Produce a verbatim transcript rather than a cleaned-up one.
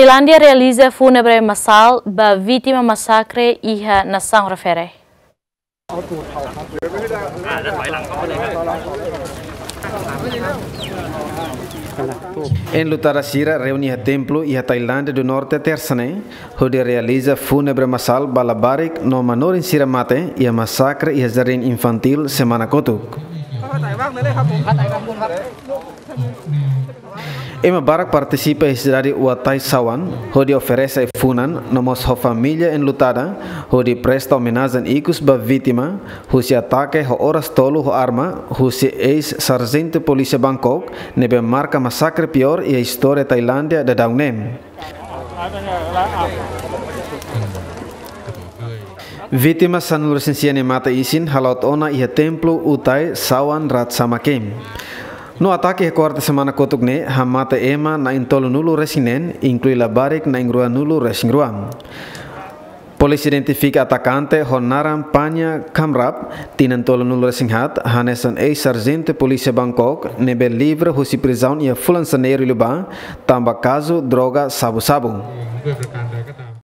Tailándia realiza fúnebre masál ba vítima masakre iha nasaun refere. Enlutada sira reúne iha templu iha Tailándia do Norte, tersa ne'e, hodi realiza fúnebre masál ba labarik no manorin sira mate iha masakre iha jardín infantíl semana kotuk. Ema barak partisipa iha sidade Uatai Sawan, hodi oferese ai-funan, no mós ho família enlutada, hodi presta omenajen ikus ba vítima, husi atake ho oras tolu ho arma, husi eis-sarjentu polísia Bangkok, ne'ebé marka masakre piór iha istória Tailándia daudaun ne'e. Vítima sanulu-resin-sia ne'e mate isin hala'o ona iha templu Utai Sawan Ratchamakem. No atake iha kuarta semana kotuk ne'e hamate ema na'in-tolunulu-resin-neen, inklui labarik na'in-ruanulu-resin-rua. Polísia identifika atakante ho naran Panya Khamrap, tinan tolunulu-resin-haat, hanesan eis-sarjentu polísia Bangkok, ne'ebé livre husi prizaun iha fulan Janeiru liubá, tanba kazu droga sabu-sabu.